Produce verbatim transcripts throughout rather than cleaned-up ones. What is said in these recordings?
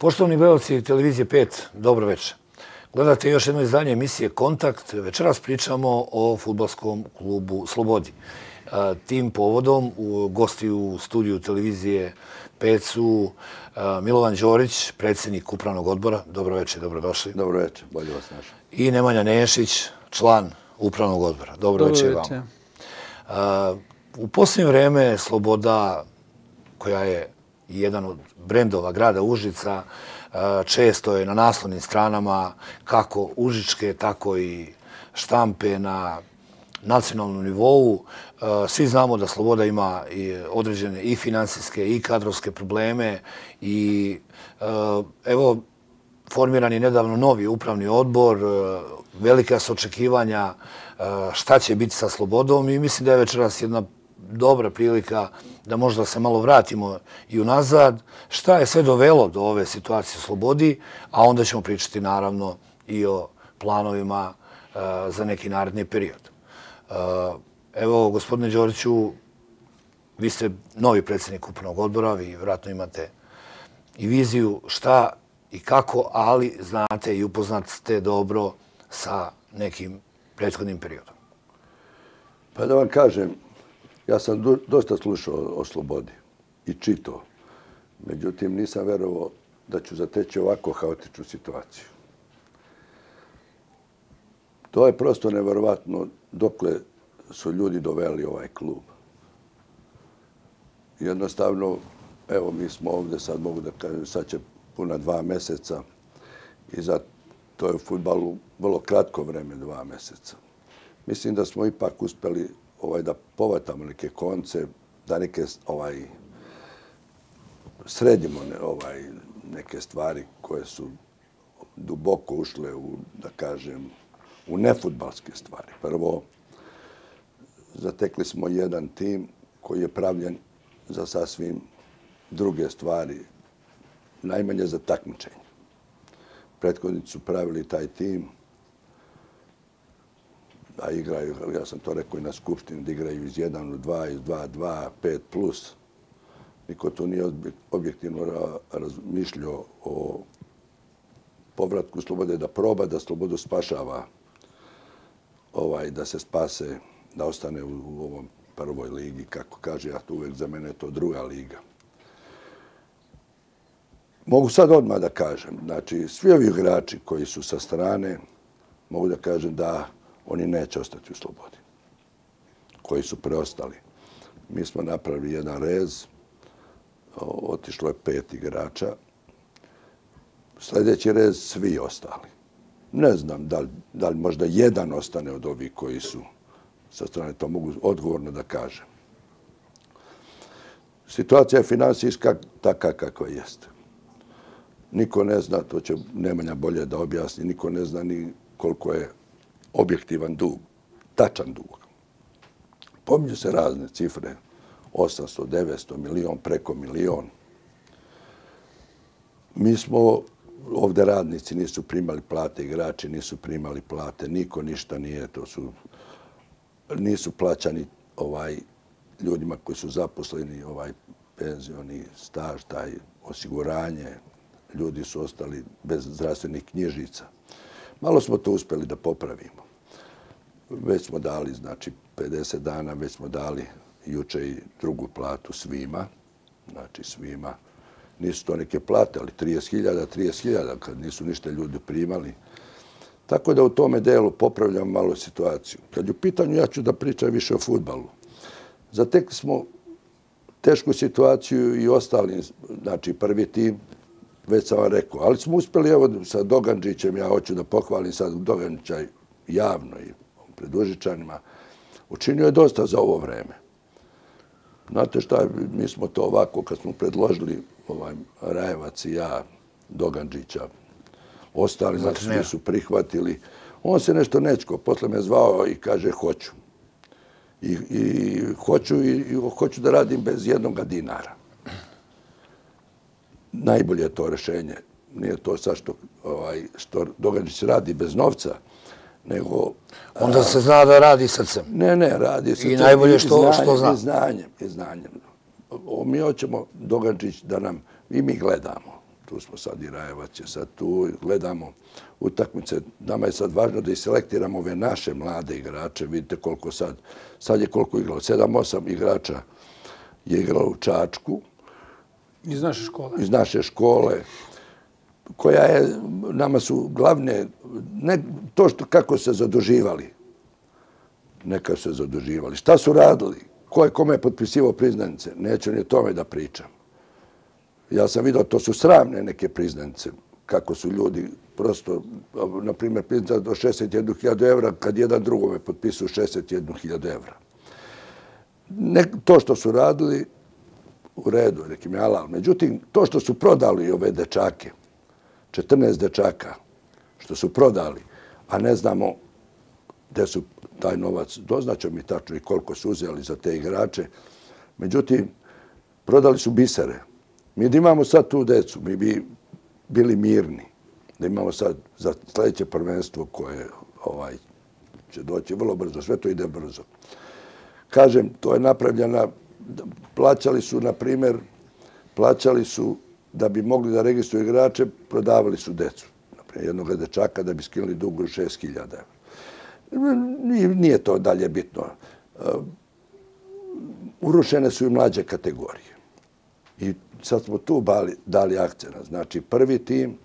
Poštovani gledalci Televizije pet, dobro večer. Gledate još jedno izdanje emisije Kontakt. Večeras pričamo o fudbalskom klubu Slobodi. Tim povodom gosti u studiju Televizije pet su Milovan Đorić, predsjednik upravnog odbora. Dobro večer, dobrodošli. Dobro večer, bolje vas našao. I Nemanja Nešić, član upravnog odbora. Dobro večer vam. U posljednje vrijeme Sloboda, koja je jedan od brendova grada Užica, često je na naslovnim stranama kako užičke, tako i štampe na nacionalnom nivou. Svi znamo da Sloboda ima određene i finansijske i kadrovske probleme i evo, formiran je nedavno novi upravni odbor, velika su očekivanja šta će biti sa Slobodom i mislim da je večeras jedna dobra prilika da možda se malo vratimo i unazad. Šta je sve dovelo do ove situacije u Slobodi, a onda ćemo pričati naravno i o planovima za neki naredni period. Evo, gospodine Đoriću, vi ste novi predsjednik upravnog odbora, vi vjerojatno imate i viziju šta i kako, ali znate i upoznat ste dobro sa nekim prethodnim periodom. Pa da vam kažem, ja sam dosta slušao o Slobodi i čitao. Međutim, nisam verovao da ću zateći ovako haotičnu situaciju. To je prosto neverovatno dokle su ljudi doveli ovaj klub. Jednostavno, evo, mi smo ovdje, sad mogu da kažem, sad će puna dva meseca i za to je u fudbalu vrlo kratko vreme, dva meseca. Mislim da smo ipak uspeli ovaj, da povatamo neke konce, da neke ovaj, sredimo ne, ovaj, neke stvari koje su duboko ušle u, da kažem, u nefudbalske stvari. Prvo, zatekli smo jedan tim koji je pravljen za sasvim druge stvari, najmanje za takmičenje. Prethodnici su pravili taj tim da igraju, ja sam to rekao i na skupštini, da igraju iz jedan u dva, iz dva, dva, pet plus. Niko tu nije objektivno razmišljao o povratku Slobode, da proba da Slobodu spašava, ovaj, da se spase, da ostane u, u ovom prvoj ligi, kako kaže, ja tu uvek za mene je to druga liga. Mogu sad odmah da kažem, znači, svi ovi igrači koji su sa strane, mogu da kažem da oni neće ostati u Slobodi, koji su preostali. Mi smo napravili jedan rez, otišlo je pet igrača, sljedeći rez svi ostali. Ne znam da li, da li možda jedan ostane od ovih koji su sa strane, to mogu odgovorno da kažem. Situacija je finansijska taka kakva jeste. Niko ne zna, to će Nemanja bolje da objasni, niko ne zna ni koliko je objektivan dug, tačan dug. Pominju se razne cifre, osamsto, devetsto, milion, preko milion. Mi smo, ovdje radnici nisu primali plate, igrači nisu primali plate, niko ništa nije, to su, nisu plaćani ovaj, ljudima koji su zaposleni, ovaj penzioni staž, taj osiguranje, ljudi su ostali bez zdravstvenih knjižica. Malo smo to uspjeli da popravimo. Već smo dali, znači, pedeset dana, već smo dali juče i drugu platu svima. Znači, svima. Nisu to neke plate, ali trideset hiljada, trideset hiljada, kad nisu ništa ljudi primali. Tako da u tome delu popravljam malo situaciju. Kad je u pitanju, ja ću da pričam više o fudbalu. Zatekli smo tešku situaciju i ostali, znači, prvi tim, već sam vam rekao, ali smo uspjeli, evo, sa Dogančićem, ja hoću da pohvalim sad Dogančića javno i pred Užičanima, učinio je dosta za ovo vreme. Znate šta, mi smo to ovako, kad smo predložili ovaj, Rajevac i ja, Dogančića, ostali, znači, svi su prihvatili. On se nešto nečko, posle me zvao i kaže, hoću. I, i hoću, i, i hoću da radim bez jednog dinara. Najbolje je to rešenje. Nije to sad što, ovaj, što Dogančić radi bez novca, nego... Onda a, se zna da radi srcem. Ne, ne, radi srcem. I najbolje što, znanjem, što zna. I znanjem, i znanjem. O, mi hoćemo Dogančić da nam... I mi gledamo. tu smo sad i Rajevac je sad tu, gledamo utakmice. Nama je sad važno da iselektiramo ove naše mlade igrače. Vidite koliko sad, sad je koliko igralo, sedam, osam igrača je igralo u Čačku. Iz naše škole. Iz naše škole, koja je, nama su glavne, ne to što kako se zaduživali, neka se zaduživali. Šta su radili? Ko je kome potpisivao priznanice? Neću ni o tome da pričam. Ja sam vidio, to su sramne neke priznanice, kako su ljudi prosto, na primjer, priznanice do šezdeset jednu hiljadu evra, kad jedan drugome potpisuju šezdeset jednu hiljadu evra. Ne, to što su radili, u redu, nekim je alal. Međutim, to što su prodali ove dečake, četrnaest dečaka, što su prodali, a ne znamo gde su taj novac, doznaćemo mi tačno i koliko su uzeli za te igrače. Međutim, prodali su bisere. Mi da imamo sad tu decu, mi bi bili mirni. Da imamo sad za sljedeće prvenstvo koje ovaj, će doći vrlo brzo. Sve to ide brzo. Kažem, to je napravljena, plaćali su, na primjer, plaćali su da bi mogli da registruju igrače, prodavali su decu. Naprimjer, jednog dečaka da bi skinuli dugu šest hiljada evra. Nije to dalje bitno. Urušene su i mlađe kategorije. I sad smo tu dali akcent. Znači, prvi tim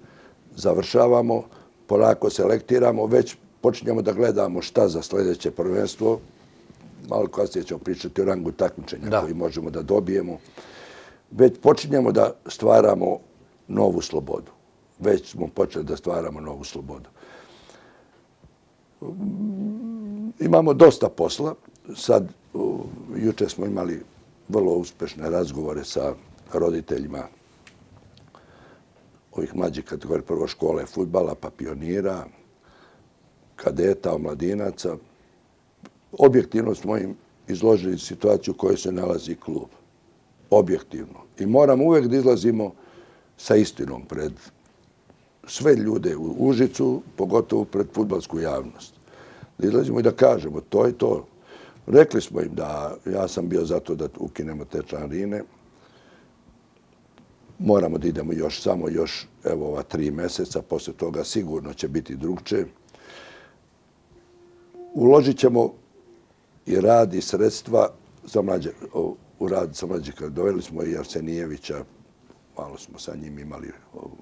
završavamo, polako selektiramo, već počinjemo da gledamo šta za sljedeće prvenstvo. Malo kasnije ćemo pričati o rangu takmičenja koji možemo da dobijemo. Već počinjemo da stvaramo novu slobodu. Već smo počeli da stvaramo novu slobodu. Imamo dosta posla. Sad, juče smo imali vrlo uspešne razgovore sa roditeljima ovih mlađih kategorija, prvo škole fudbala, pa pionira, kadeta, omladinaca. Objektivno smo im izložili situaciju u kojoj se nalazi klub. Objektivno. I moramo uvek da izlazimo sa istinom pred sve ljude u Užicu, pogotovo pred fudbalsku javnost. Da izlazimo i da kažemo to i to. Rekli smo im da ja sam bio zato da ukinemo te članarine. Moramo da idemo još samo još evo ova tri meseca. Posle toga sigurno će biti drugčije. Uložit ćemo i rad i sredstva za mlađe, u rad sa mlađe. Doveli smo i Arsenijevića, malo smo sa njim imali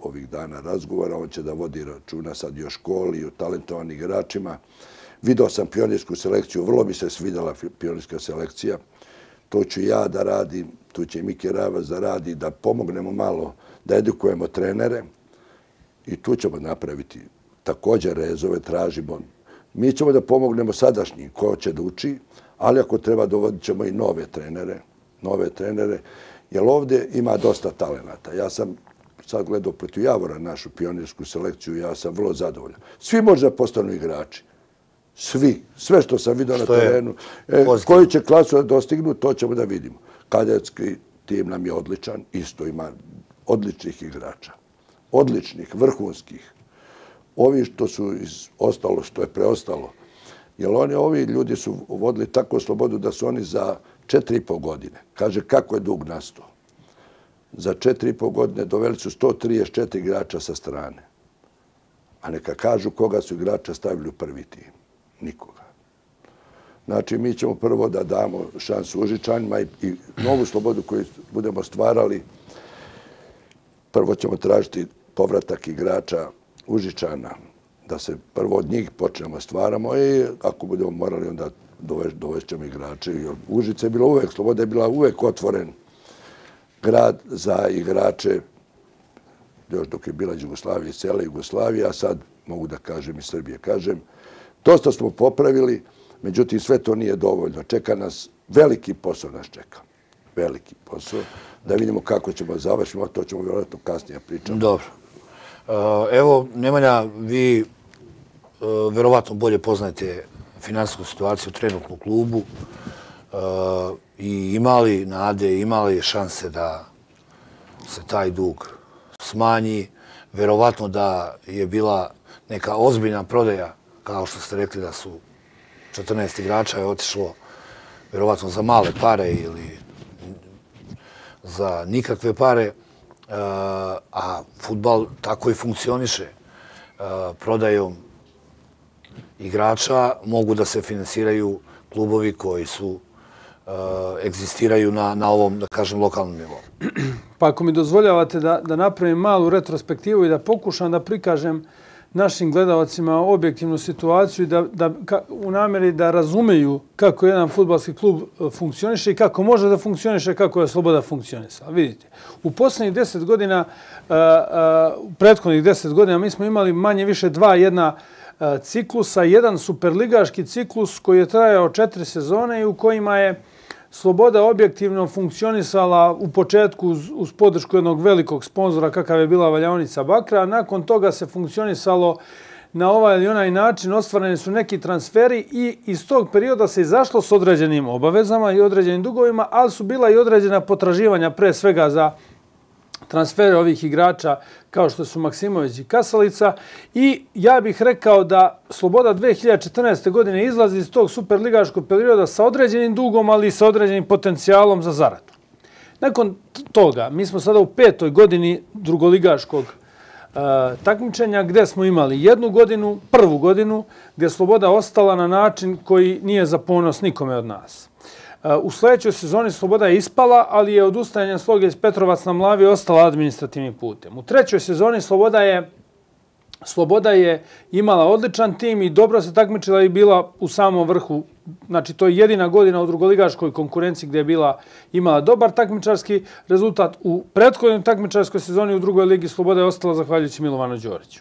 ovih dana razgovora, on će da vodi računa sad i o školi i o talentovanim igračima. Video sam pionirsku selekciju, vrlo mi se svidjela pionirska selekcija. To ću ja da radim, tu će i Miki Ravac da radi, da pomognemo malo, da edukujemo trenere i tu ćemo napraviti također rezove, tražimo. Mi ćemo da pomognemo sadašnjim ko će da uči, ali ako treba dovodit ćemo i nove trenere, nove trenere, jer ovdje ima dosta talenata. Ja sam sad gledao protiv Javora našu pionirsku selekciju, ja sam vrlo zadovoljan. Svi možda postanu igrači. Svi. Sve što sam vidio na terenu. Koju će klasu da dostignu, to ćemo da vidimo. Kadetski tim nam je odličan, isto ima odličnih igrača. Odličnih, vrhunskih. Ovi što su ostalo, što je preostalo. Jer oni, ovi ljudi su vodili tako slobodu da su oni za četiri i po godine. Kaže, kako je dug nastao? Za četiri i po godine doveli su sto trideset četiri igrača sa strane. A neka kažu koga su igrača stavili u prvi tim. Nikoga. Znači, mi ćemo prvo da damo šansu Užičanima i, i novu slobodu koju budemo stvarali. Prvo ćemo tražiti povratak igrača Užičana, da se prvo od njih počnemo stvaramo i ako budemo morali, onda dovešćemo igrače. Užice je bila uvek, sloboda je bila uvek otvoren grad za igrače, još dok je bila Jugoslavija i cijela Jugoslavija, a sad mogu da kažem i Srbije. Kažem, dosta smo popravili, međutim sve to nije dovoljno. Čeka nas, veliki posao nas čeka. Veliki posao. Da vidimo kako ćemo završiti, a to ćemo vjerojatno kasnije pričati. Dobro. Evo, Nemanja, vi verovatno bolje poznajete finansijsku situaciju trenutnu u klubu i imali nade, imali šanse da se taj dug smanji. Verovatno da je bila neka ozbiljna prodaja, kao što ste rekli da su četrnaest igrača je otišlo verovatno za male pare ili za nikakve pare, a fudbal tako i funkcioniše. Prodajom igrača mogu da se finansiraju klubovi koji su egzistiraju na, na ovom, da kažem, lokalnom nivou. Pa ako mi dozvoljavate da, da napravim malu retrospektivu i da pokušam da prikažem našim gledalcima objektivnu situaciju i da, da, ka, u namjeri da razumeju kako jedan fudbalski klub funkcioniše i kako može da funkcioniše, kako je Sloboda funkcionisala. Vidite, u posljednjih deset godina, uh, uh, u prethodnih deset godina mi smo imali manje više dva jedna uh, ciklusa, jedan superligaški ciklus koji je trajao četiri sezone i u kojima je Sloboda objektivno funkcionisala u početku uz, uz podršku jednog velikog sponzora kakav je bila Valjaonica Bakra, a nakon toga se funkcionisalo na ovaj ili onaj način, ostvareni su neki transferi i iz tog perioda se izašlo s određenim obavezama i određenim dugovima, ali su bila i određena potraživanja pre svega za transfere ovih igrača kao što su Maksimović i Kasalica i ja bih rekao da Sloboda dve hiljade četrnaeste. godine izlazi iz tog superligaškog perioda sa određenim dugom, ali i sa određenim potencijalom za zaradu. Nakon toga, mi smo sada u petoj godini drugoligaškog uh, takmičenja gdje smo imali jednu godinu, prvu godinu, gdje Sloboda ostala na način koji nije za ponos nikome od nas. U sljedećoj sezoni Sloboda je ispala, ali je odustajanje Sloge iz Petrovac na Mlavi ostala administrativnim putem. U trećoj sezoni Sloboda je, Sloboda je imala odličan tim i dobro se takmičila i bila u samom vrhu. Znači, to je jedina godina u drugoligaškoj konkurenciji gdje je bila, imala dobar takmičarski rezultat. U prethodnoj takmičarskoj sezoni u drugoj ligi Sloboda je ostala zahvaljujući Milovanu Đoriću.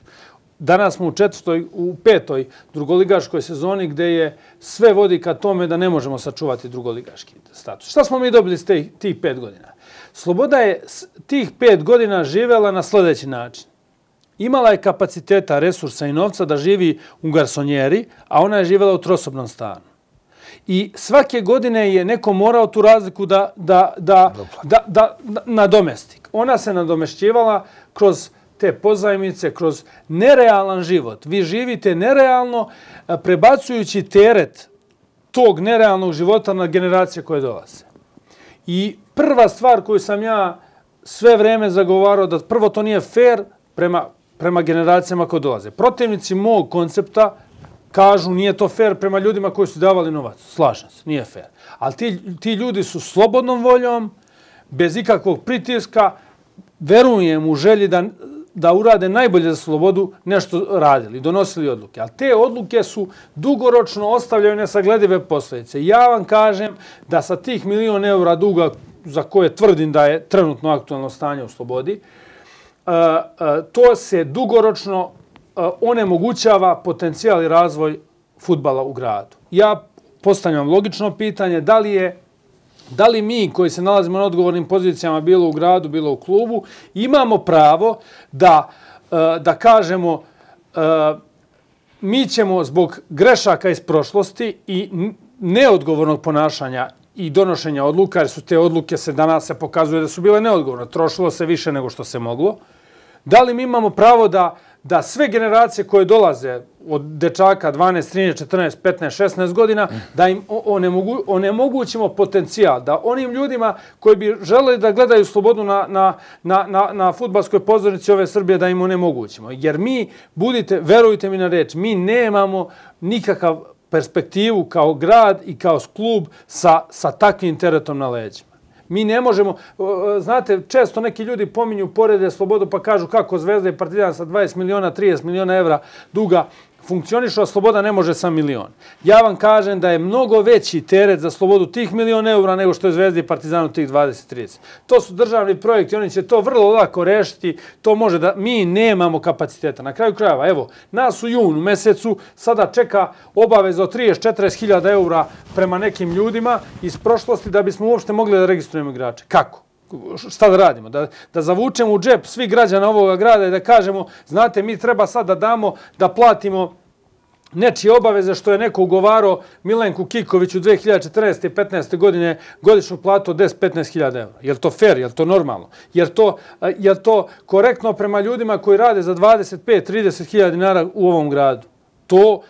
Danas smo u četvrtoj, u petoj drugoligaškoj sezoni gdje je sve vodi ka tome da ne možemo sačuvati drugoligaški status. Šta smo mi dobili s tih, tih pet godina? Sloboda je tih pet godina živjela na sljedeći način. Imala je kapaciteta, resursa i novca da živi u garsonjeri, a ona je živjela u trosobnom stanu. I svake godine je neko morao tu razliku da, da, da, da, da, da nadomesti. Ona se nadomešćivala kroz te pozajmice, kroz nerealan život. Vi živite nerealno, prebacujući teret tog nerealnog života na generacije koje dolaze. I prva stvar koju sam ja sve vreme zagovarao, da prvo to nije fair prema, prema generacijama koje dolaze. Protivnici mog koncepta kažu nije to fair prema ljudima koji su davali novac. Slažem se, nije fair. Ali ti, ti ljudi su slobodnom voljom, bez ikakvog pritiska, verujem u želji da da urade najbolje za Slobodu, nešto radili, donosili odluke. Ali te odluke su dugoročno ostavljaju nesagledive posljedice. Ja vam kažem da sa tih milion eura duga za koje tvrdim da je trenutno aktualno stanje u Slobodi, to se dugoročno onemogućava potencijal i razvoj fudbala u gradu. Ja postavljam logično pitanje da li je Da li mi koji se nalazimo na odgovornim pozicijama bilo u gradu, bilo u klubu, imamo pravo da, da kažemo mi ćemo zbog grešaka iz prošlosti i neodgovornog ponašanja i donošenja odluka, jer su te odluke se danas se pokazuje da su bile neodgovorne, trošilo se više nego što se moglo, da li mi imamo pravo da da sve generacije koje dolaze od dečaka dvanaest, trinaest, četrnaest, petnaest, šesnaest godina, da im onemogu, onemogućimo potencijal, da onim ljudima koji bi želeli da gledaju Slobodu na, na, na, na, na fudbalskoj pozornici ove Srbije, da im onemogućimo. Jer mi, budite, verujte mi na reč, mi nemamo nikakav perspektivu kao grad i kao klub sa, sa takvim teretom na leđima. Mi ne možemo, znate, često neki ljudi pominju porede Slobodu pa kažu kako Zvezda i Partizan sa dvadeset miliona, trideset miliona evra duga funkcionišu, a Sloboda ne može sa milion. Ja vam kažem da je mnogo veći teret za Slobodu tih milion eura nego što je Zvezda i Partizanu tih dvadeset trideset. To su državni projekti, oni će to vrlo lako rešiti, to može da, mi nemamo kapaciteta. Na kraju krajeva, evo, nas u junu mesecu sada čeka obaveza od trideset do četrdeset hiljada eura prema nekim ljudima iz prošlosti da bismo uopšte mogli da registrujemo igrače. Kako? Šta da radimo? Da, da zavučemo u džep svih građana ovoga grada i da kažemo, znate, mi treba sad da damo, da platimo nečije obaveze što je neko ugovarao Milenku Kikoviću dve hiljade četrnaeste. i petnaeste. godine godišnju platu od deset do petnaest hiljada eura. Je li to fair? Je li to normalno? Je li to, je li to korektno prema ljudima koji rade za dvadeset pet do trideset hiljada dinara u ovom gradu? To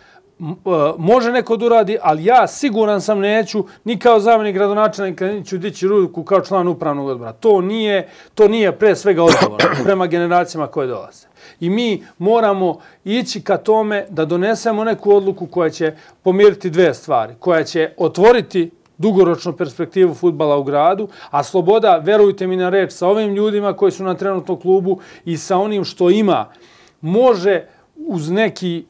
može neko da uradi, ali ja siguran sam neću ni kao zamjenik gradonačelnika neću dići ruku kao član upravnog odbora. To nije, to nije pre svega odgovorno prema generacijama koje dolaze. I mi moramo ići ka tome da donesemo neku odluku koja će pomiriti dve stvari, koja će otvoriti dugoročnu perspektivu fudbala u gradu, a Sloboda, verujte mi na reč, sa ovim ljudima koji su na trenutnom klubu i sa onim što ima, može uz neki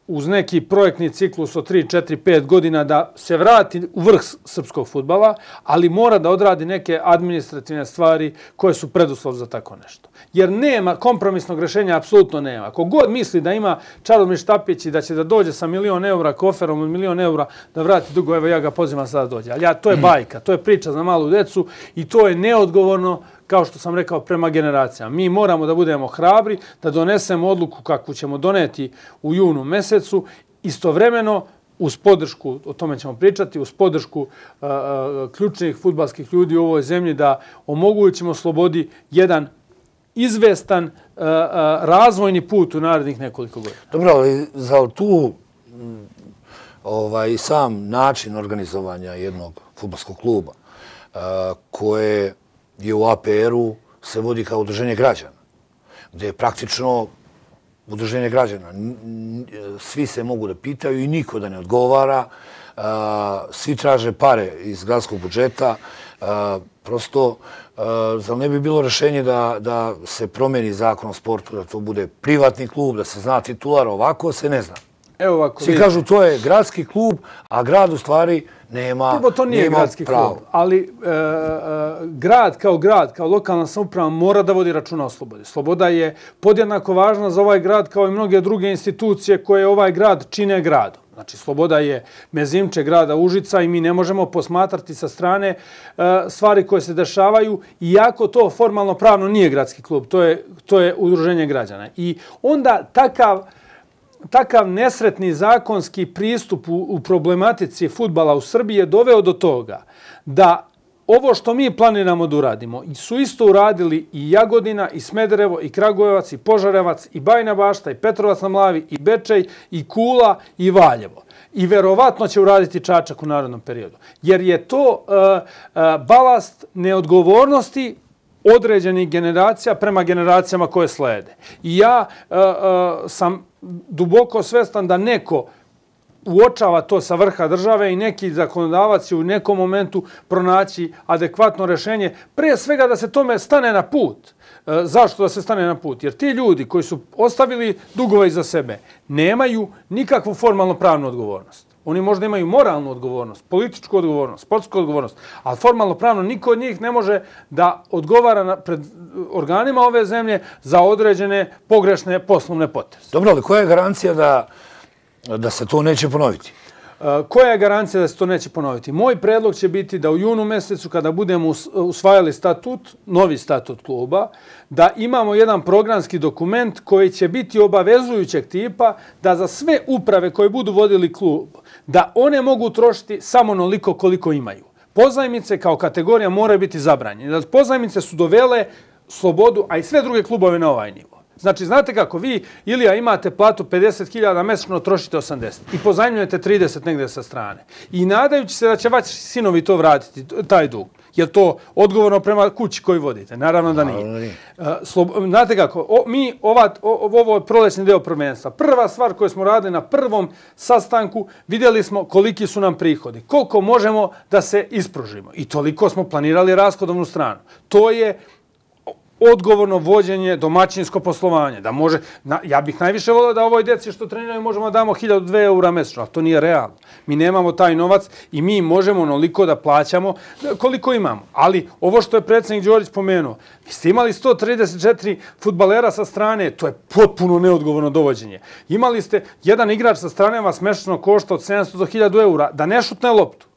uz neki projektni ciklus od tri, četiri, pet godina da se vrati u vrh srpskog fudbala, ali mora da odradi neke administrativne stvari koje su preduslov za tako nešto. Jer nema kompromisnog rješenja, apsolutno nema. Ako god misli da ima Čaromir Štapić i da će da dođe sa milion eura koferom od milion eura da vrati dugo, evo ja ga pozivam sada da dođe. Ali ja, to je bajka, to je priča za malu decu i to je neodgovorno, kao što sam rekao, prema generacijama. Mi moramo da budemo hrabri, da donesemo odluku kakvu ćemo doneti u junu mesecu, istovremeno uz podršku, o tome ćemo pričati, uz podršku uh, uh, ključnih fudbalskih ljudi u ovoj zemlji da omogućimo Slobodi jedan izvestan uh, uh, razvojni put u narednih nekoliko godina. Dobro, ali za tu m, ovaj, sam način organizovanja jednog fudbalskog kluba uh, koje je u A P R-u se vodi kao udruženje građana, gdje je praktično udruženje građana. Svi se mogu da pitaju i niko da ne odgovara. Svi traže pare iz gradskog budžeta. Prosto, zar ne bi bilo rješenje da, da se promeni zakon o sportu, da to bude privatni klub, da se zna titular, ovako se ne zna. Evo ovako, svi kažu to je gradski klub, a grad u stvari nema, Prvo, to nije nema gradski pravo. klub, ali e, e, grad kao grad, kao lokalna samouprava mora da vodi računa o slobodi. Sloboda je podjednako važna za ovaj grad kao i mnoge druge institucije koje ovaj grad čine gradom. Znači, Sloboda je mezimče grada Užica i mi ne možemo posmatrati sa strane e, stvari koje se dešavaju, iako to formalno pravno nije gradski klub, to je, to je udruženje građana. I onda takav Takav nesretni zakonski pristup u, u problematici fudbala u Srbiji je doveo do toga da ovo što mi planiramo da uradimo su isto uradili i Jagodina, i Smederevo, i Kragujevac, i Požarevac, i Bajina Bašta, i Petrovac na Mlavi, i Bečej, i Kula, i Valjevo. I verovatno će uraditi Čačak u narodnom periodu. Jer je to uh, uh, balast neodgovornosti određenih generacija prema generacijama koje slede. I ja uh, uh, sam duboko svestan da neko uočava to sa vrha države i neki zakonodavac će u nekom momentu pronaći adekvatno rješenje. Prije svega da se tome stane na put. E, zašto da se stane na put? Jer ti ljudi koji su ostavili dugove iza sebe nemaju nikakvu formalno pravnu odgovornost. Oni možda imaju moralnu odgovornost, političku odgovornost, sportsku odgovornost, ali formalno pravno niko od njih ne može da odgovara na, pred organima ove zemlje za određene pogrešne poslovne poteze. Dobro, ali koja je garancija da, da se to neće ponoviti? Koja je garancija da se to neće ponoviti? Moj predlog će biti da u junu mjesecu, kada budemo usvajali statut, novi statut kluba, da imamo jedan programski dokument koji će biti obavezujućeg tipa da za sve uprave koje budu vodili klub, da one mogu trošiti samo onoliko koliko imaju. Pozajmice kao kategorija moraju biti zabranjene. Pozajmice su dovele Slobodu, a i sve druge klubove na ovaj nivo. Znači, znate kako, vi, Ilija, imate platu pedeset hiljada mesečno, trošite osamdeset i pozajmljujete trideset negdje sa strane. I nadajući se da će vaši sinovi to vratiti, taj dug. Je li to odgovorno prema kući koju vodite? Naravno da nije. Znate kako, o, mi, ova, o, ovo je prolećni deo prvenstva. Prva stvar koju smo radili na prvom sastanku, vidjeli smo koliki su nam prihodi. Koliko možemo da se ispružimo. I toliko smo planirali rashodovnu stranu. To je odgovorno vođenje, domaćinsko poslovanje. Da može, na, ja bih najviše volio da ovoj djeci što treniraju možemo da damo hiljadu dve eura mesečno, ali to nije realno. Mi nemamo taj novac i mi možemo onoliko da plaćamo koliko imamo. Ali ovo što je predsjednik Đorić pomenuo, vi ste imali sto trideset četiri fudbalera sa strane, to je potpuno neodgovorno dovođenje. Imali ste jedan igrač sa strane vas mesečno košta od sedamsto do hiljadu eura da ne šutne loptu.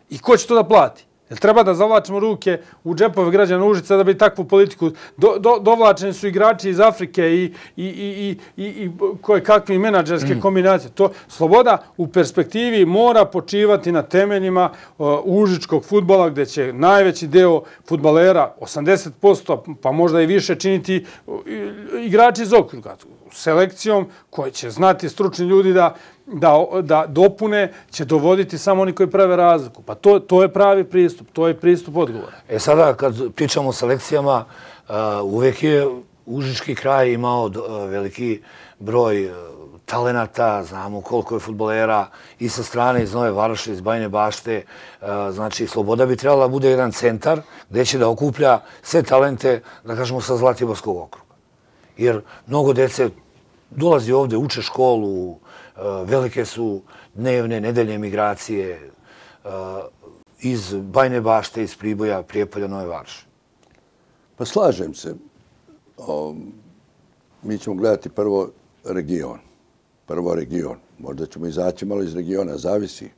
I ko će to da plati? Jel treba da zavlačimo ruke u džepove građana Užica da bi takvu politiku... Do, do, dovlačeni su igrači iz Afrike i, i, i, i, i koje kakve menadžerske mm. kombinacije. To Sloboda u perspektivi mora počivati na temeljima uh, užičkog fudbala gdje će najveći deo fudbalera, osamdeset posto pa možda i više, činiti uh, igrači iz okruga. Selekcijom koje će znati stručni ljudi da da dopune će dovoditi samo oni koji prave razliku. Pa to je pravi pristup, to je pristup odgovora. E sada, kad pričamo o selekcijama, uvek je Užički kraj imao veliki broj talenata, znamo koliko je fudbalera i sa strane iz Nove Varoši, iz Bajine Bašte. Znači, Sloboda bi trebala da bude jedan centar gde će da okuplja sve talente, da kažemo, sa Zlatiborskog okruga. Jer mnogo dece dolazi ovde, uče školu, velike su dnevne, nedeljne migracije iz Bajine Bašte, iz Priboja, Prijepolja, Nove Varoši. Pa slažem se. Mi ćemo gledati prvo region. Prvo region. Možda ćemo izaći malo iz regiona, zavisi.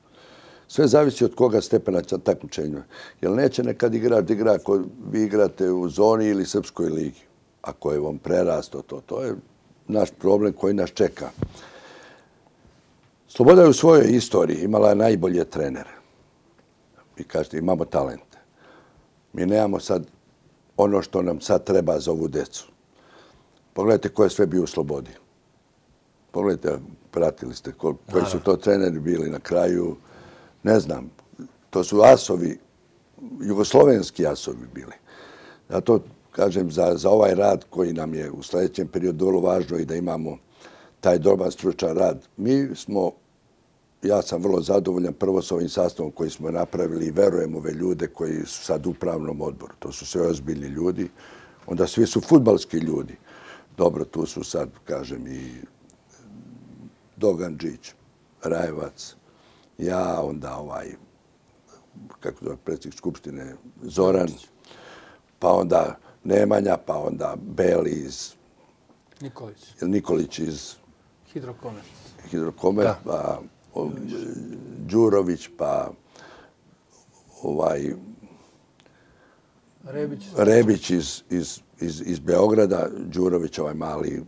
Sve zavisi od koga stepena takmičenja. Jer neće nekad igrač da igra ako vi igrate u zoni ili Srpskoj ligi. Ako je vam prerasto to, to je naš problem koji nas čeka. Sloboda je u svojoj istoriji imala najbolje trenere. Vi kažete, imamo talente. Mi nemamo sad ono što nam sad treba za ovu decu. Pogledajte ko je sve bio u Slobodi. Pogledajte, pratili ste koji su to treneri bili na kraju. Ne znam, to su asovi, jugoslovenski asovi bili. Zato kažem, za ovaj rad koji nam je u sljedećem periodu vrlo važno i da imamo taj dobar stručan rad. Mi smo, ja sam vrlo zadovoljan prvo s ovim sastavom koji smo napravili i verujem ove ljude koji su sad u upravnom odboru. To su sve ozbiljni ljudi. Onda svi su fudbalski ljudi. Dobro, tu su sad, kažem, i Dogandžić, Rajevac, ja, onda ovaj, kako zove predsjednik Skupštine, Zoran, pa onda Nemanja, pa onda Beli iz... Nikolić. Nikolić iz... Hidrokomer. Hidrokomer, pa Đurović, pa ovaj... Rebić. Rebić iz, iz, iz, iz Beograda, Đurović, ovaj mali,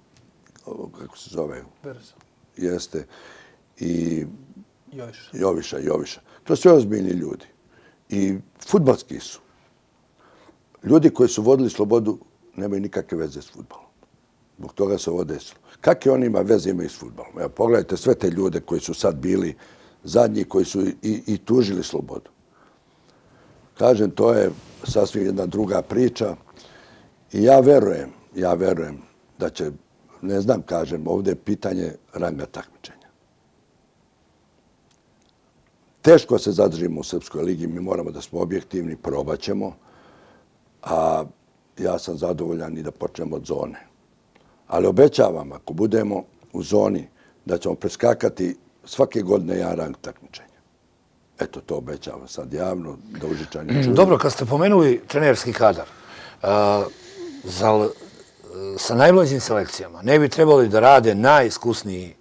kako se zove? Berzo. Jeste. I... Joviša. Joviša, Joviša. To su sve ozbiljni ljudi. I fudbalski su. Ljudi koji su vodili Slobodu nemaju nikakve veze s fudbalom. Zbog toga se ovo desilo. Kakve oni ima veze imaju s fudbalom? Evo, pogledajte sve te ljude koji su sad bili zadnji, koji su i, i tužili Slobodu. Kažem, to je sasvim jedna druga priča. I ja verujem, ja verujem da će, ne znam, kažem, ovdje je pitanje ranga takmičenja. Teško se zadržimo u Srpskoj ligi, mi moramo da smo objektivni, probat ćemo, a ja sam zadovoljan i da počnemo od zone. Ali obećavam, ako budemo u zoni, da ćemo preskakati svake godine jedan rang takmičenja. Eto, to obećavam sad javno, da Užičani čuju. Dobro, kad ste pomenuli trenerski kadar, za, sa najmlađim selekcijama ne bi trebali da rade najiskusniji,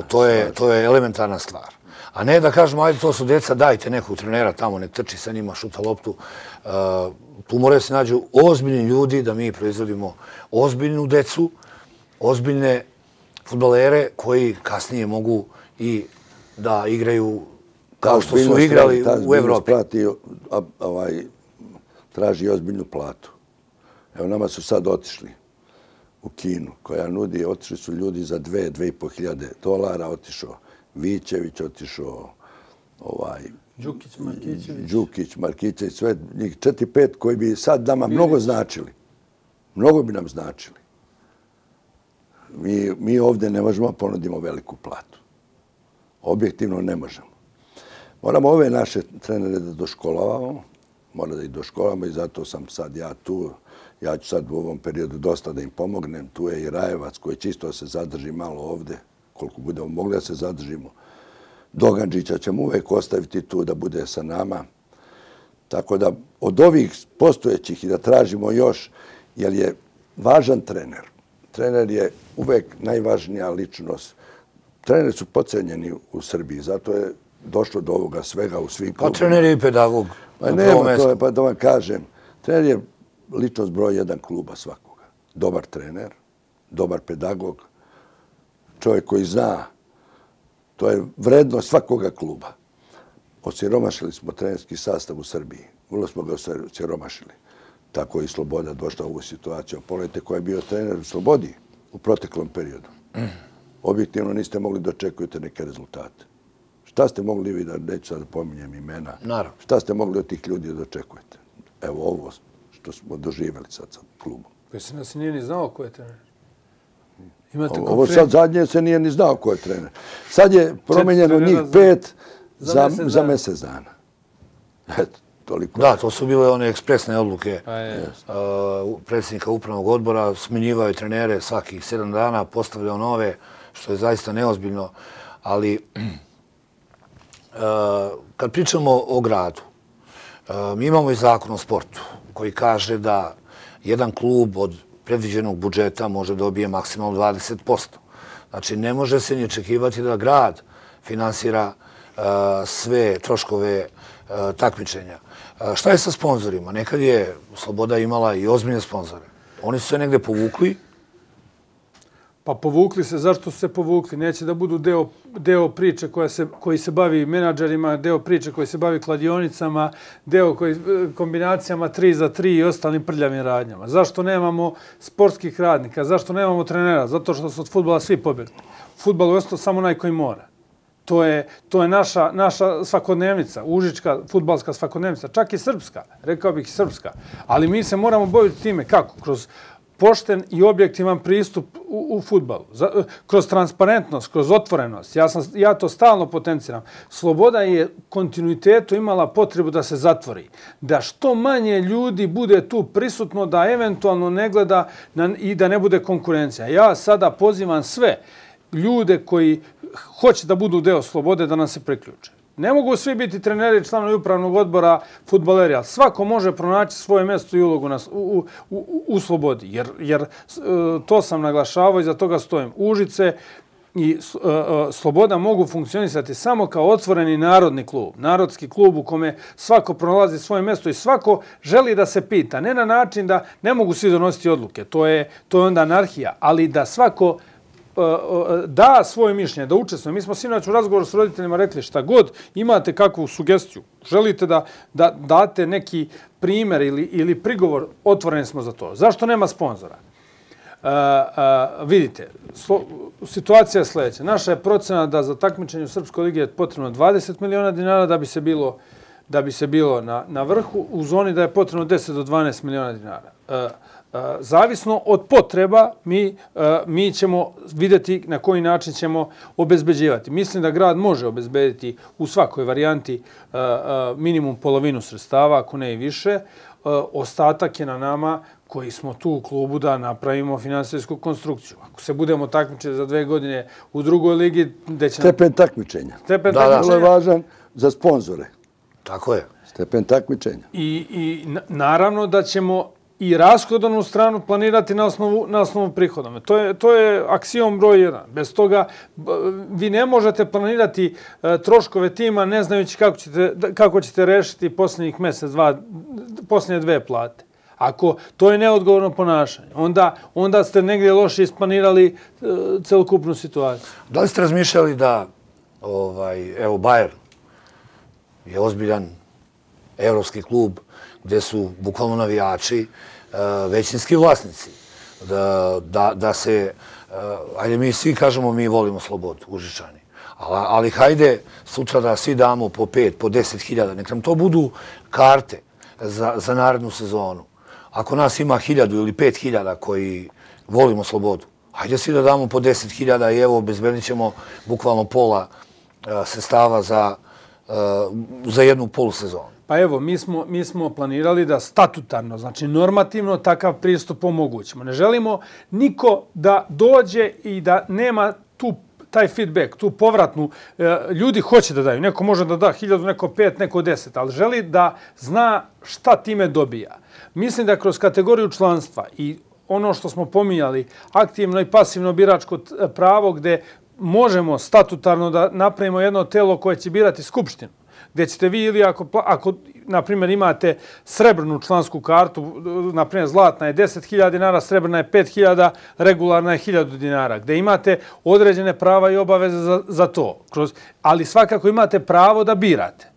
to je, to je elementarna stvar. A ne da kažemo, ajde, to su deca, dajte nekog trenera tamo, nek trči sa njima, šuta loptu. Tu moraju se nađu ozbiljni ljudi da mi proizvodimo ozbiljnu decu, ozbiljne fudbalere koji kasnije mogu i da igraju kao što su igrali u Evropi. Ovaj, traži ozbiljnu platu. Evo, nama su sad otišli u Kinu, koja nudi, otišli su ljudi za dve, dve i po hiljade dolara, otišao Vićević, otišao ovaj... Đukić, Markićević. Đukić, Markićević, sve njih četiri, pet koji bi sad nama mnogo značili. Mnogo bi nam značili. Mi, mi ovdje ne možemo ponudimo veliku platu. Objektivno ne možemo. Moramo ove naše trenere da doškolavamo, mora da ih doškolavamo i zato sam sad ja tu. Ja ću sad u ovom periodu dosta da im pomognem. Tu je i Rajevac koji čisto se zadrži malo ovdje, koliko budemo mogli da se zadržimo. Dogandžića ćemo uvek ostaviti tu da bude sa nama. Tako da od ovih postojećih i da tražimo još, jer je važan trener. Trener je uvek najvažnija ličnost. Treneri su pocenjeni u Srbiji, zato je došlo do ovoga svega u svim klubima. Pa trener je i pedagog. Pa nema, to je, pa da vam kažem. Trener je ličnost broj jedan kluba svakoga. Dobar trener, dobar pedagog, čovjek koji zna. To je vrednost svakoga kluba. Osiromašili smo trenerski sastav u Srbiji. Vrlo smo ga osiromašili. Tako je i Sloboda došla u ovu situaciju. Pogledajte ko je bio trener u Slobodi u proteklom periodu. objektivno niste mogli da očekujete neke rezultate. Šta ste mogli vi, da neću sad da pominjem imena, Naravno. Šta ste mogli od tih ljudi da očekujete? Evo ovo što smo doživjeli sad sa klubom. Pa se nas nije ni znao ko je trener. Imate Ovo, ovo sad zadnje se nije ni znao ko je trener. Sad je promenjeno njih pet za, za, mjesec, za mjesec dana. Eto, toliko. Da, to su bile one ekspresne odluke uh, predsjednika upravnog odbora. Smenjivao je trenere svakih sedam dana, postavljao nove, što je zaista neozbiljno. Ali uh, kad pričamo o gradu, uh, mi imamo i zakon o sportu koji kaže da jedan klub od predviđenog budžeta može dobije maksimalno dvadeset posto. Znači, ne može se ni očekivati da grad finansira uh, sve troškove uh, takmičenja. Uh, šta je sa sponzorima? Nekad je Sloboda imala i ozbiljne sponzore. Oni su se negde povukli. Pa povukli se. Zašto su se povukli? Neće da budu deo, deo priče koja se, koji se bavi menadžerima, deo priče koji se bavi kladionicama, deo koji, kombinacijama tri za tri i ostalim prljavim radnjama. Zašto nemamo sportskih radnika? Zašto nemamo trenera? Zato što su od fudbala svi pobjegli. Fudbal je ostao samo onaj koji mora. To je, to je naša, naša svakodnevnica, užička fudbalska svakodnevnica, čak i srpska, rekao bih i srpska. Ali mi se moramo baviti time kako? Kroz pošten i objektivan pristup u, u fudbalu. Kroz transparentnost, kroz otvorenost. Ja, sam, ja to stalno potenciram. Sloboda je kontinuitetu imala potrebu da se zatvori. Da što manje ljudi bude tu prisutno, da eventualno ne gleda na, i da ne bude konkurencija. Ja sada pozivam sve ljude koji hoće da budu deo Slobode da nam se priključe. Ne mogu svi biti treneri i članovi upravnog odbora fudbaleri, ali svako može pronaći svoje mjesto i ulogu na, u, u, u, u Slobodi. Jer, jer to sam naglašavao i za toga stojim. Užice i uh, Sloboda mogu funkcionisati samo kao otvoreni narodni klub. Narodski klub u kome svako pronalazi svoje mjesto i svako želi da se pita. Ne na način da ne mogu svi donositi odluke. To je, to je onda anarhija. Ali da svako da svoje mišljenje, da učestvuje. Mi smo sinoć u razgovoru s roditeljima rekli šta god imate kakvu sugestiju, želite da, da date neki primjer ili, ili prigovor, otvoreni smo za to. Zašto nema sponzora? Uh, uh, vidite, slo, situacija je sljedeća. Naša je procena da za takmičenje u Srpskoj ligi je potrebno dvadeset miliona dinara da bi se bilo, da bi se bilo na, na vrhu, u zoni da je potrebno deset do dvanaest miliona dinara. Uh, Zavisno od potreba mi, mi ćemo vidjeti na koji način ćemo obezbeđivati. Mislim da grad može obezbediti u svakoj varijanti minimum polovinu sredstava, ako ne i više. Ostatak je na nama koji smo tu u klubu da napravimo finansijsku konstrukciju. Ako se budemo takmičiti za dve godine u drugoj ligi... Gde će Stepen takmičenja. Stepen da, takmičenja. Da, je važan za sponzore. Tako je. Stepen takmičenja. I, i naravno da ćemo i rashodovnu stranu planirati na osnovu, na osnovu prihodom. To je, to je aksijom broj jedan. Bez toga vi ne možete planirati uh, troškove tima ne znajući kako ćete, kako ćete rešiti posljednjih mjesec, dva, posljednje dve plate. Ako to je neodgovorno ponašanje, onda, onda ste negdje loše isplanirali uh, celokupnu situaciju. Da li ste razmišljali da ovaj, evo, Bayern je ozbiljan evropski klub gdje su bukvalno navijači uh, većinski vlasnici. Da, da, da se, uh, ajde mi svi kažemo mi volimo Slobodu, Užičani. Ali, ali hajde sutra da svi damo po pet, po deset hiljada. Nek nam to budu karte za, za narednu sezonu. Ako nas ima hiljadu ili pet hiljada koji volimo Slobodu, hajde svi da damo po deset hiljada i evo obezbedit ćemo bukvalno pola uh, sredstava za, uh, za jednu polusezonu. Pa evo, mi smo, mi smo planirali da statutarno, znači normativno, takav pristup omogućimo. Ne želimo niko da dođe i da nema tu taj feedback, tu povratnu. Ljudi hoće da daju. Neko može da da hiljadu, neko pet, neko deset, ali želi da zna šta time dobija. Mislim da kroz kategoriju članstva i ono što smo pominjali, aktivno i pasivno biračko pravo gde možemo statutarno da napravimo jedno telo koje će birati skupštinu, gdje ćete vi ili ako, ako na primjer, imate srebrnu člansku kartu, na primjer, zlatna je deset hiljada dinara, srebrna je pet hiljada, regularna je hiljadu dinara, gdje imate određene prava i obaveze za, za to. Kroz, ali svakako imate pravo da birate.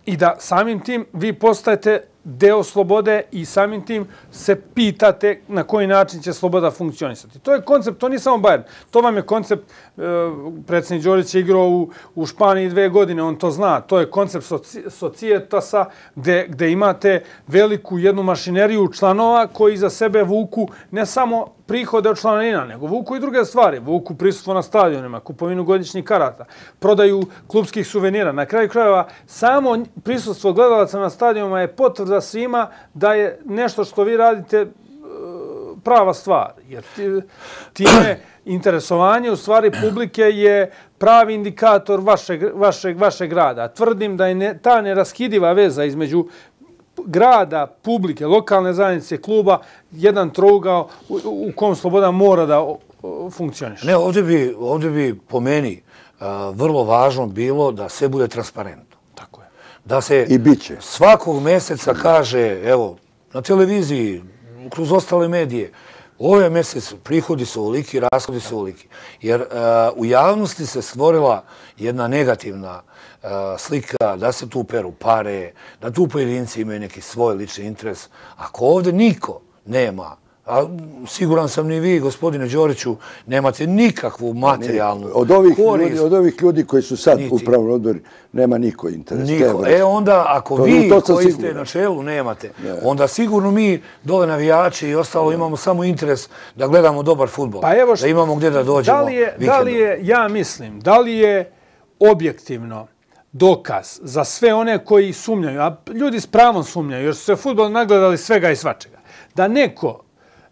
I da samim tim vi postajete deo slobode i samim tim se pitate na koji način će sloboda funkcionisati. To je koncept, to nije samo Bayern. To vam je koncept, e, predsjednik Đorić je igrao u, u Španiji dve godine, on to zna. To je koncept soci, Societasa gde, gde imate veliku jednu mašineriju članova koji za sebe vuku ne samo prihode od članarina, nego vuku i druge stvari. Vuku prisustvo na stadionima, kupovinu godišnjih karata, prodaju klubskih suvenira. Na kraju krajeva, samo prisustvo gledalaca na stadionima je potvrda svima da je nešto što vi radite prava stvar. Jer time interesovanje u stvari publike je pravi indikator vašeg, vašeg, vašeg rada. Tvrdim da je ne, ta neraskidiva veza između grada, publike, lokalne zajednice, kluba, jedan trougao u, u kom sloboda mora da funkcioniše. Ne, ovdje bi, ovdje bi po meni uh, vrlo važno bilo da sve bude transparentno. Tako je. Da se I biće. Svakog mjeseca kaže, evo, na televiziji, kroz ostale medije, ovaj mjesec prihodi su ovoliki, rashodi su ovoliki. Jer uh, u javnosti se stvorila jedna negativna uh, slika da se tu peru pare, da tu pojedinci imaju neki svoj lični interes. Ako ovdje niko nema, a siguran sam ni vi, gospodine Đoriću, nemate nikakvu materijalnu od ovih korist. Ljudi, od ovih ljudi koji su sad niti. u upravnom odboru, nema niko interes. Niko. E onda, ako to, vi to koji siguran. ste na čelu nemate, ne. onda sigurno mi dole navijači i ostalo ne. imamo samo interes da gledamo dobar fudbal. Pa evo da imamo gdje da dođemo da li je, da li je, ja mislim, da li je objektivno dokaz za sve one koji sumnjaju, a ljudi s pravom sumnjaju, jer su se fudbal nagledali svega i svačega, da neko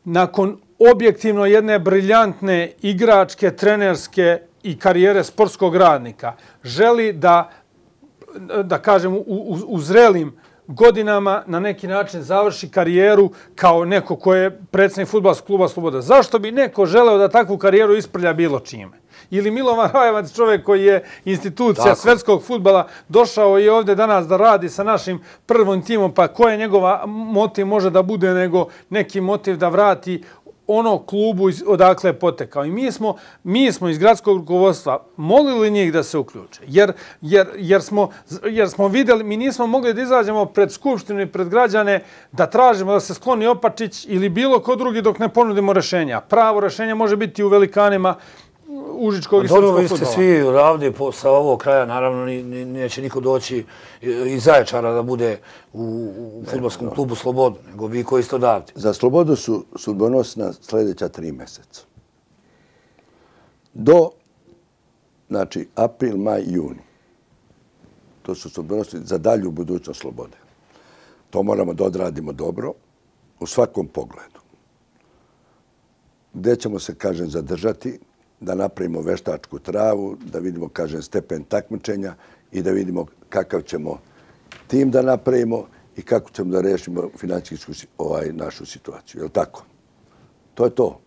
nakon objektivno jedne briljantne igračke, trenerske i karijere sportskog radnika želi da, da kažem, u, u, u zrelim godinama na neki način završi karijeru kao neko ko je predsjednik fudbalskog kluba Sloboda. Zašto bi neko želeo da takvu karijeru isprlja bilo čime? Ili Milovan Rajevac, čovjek koji je institucija Tako. svetskog fudbala, došao je ovdje danas da radi sa našim prvom timom, pa koja njegova motiv može da bude nego neki motiv da vrati ono klubu odakle je potekao. I mi smo, mi smo iz gradskog rukovodstva molili njih da se uključe. Jer, jer, jer, smo, jer smo vidjeli, mi nismo mogli da izađemo pred skupštinu i pred građane da tražimo da se skloni Opačić ili bilo ko drugi dok ne ponudimo rešenja. Pravo rešenje može biti u velikanima užičkog i srpskog fudbala. Dobro, vi ste svi ravni sa ovog kraja, naravno neće niko doći iz Zaječara da bude u, u fudbalskom ne, klubu Slobodu, nego vi koji ste odavde. Za Slobodu su sudbonosna sljedeća tri mjeseca. Do, znači, april, maj, juni. To su sudbonosni za dalju budućnost Slobode. To moramo da odradimo dobro u svakom pogledu. Gdje ćemo se, kažem, zadržati, da napravimo veštačku travu, da vidimo, kažem, stepen takmičenja i da vidimo kakav ćemo tim da napravimo i kako ćemo da rešimo financijsku ovaj, našu situaciju. Je li tako? To je to.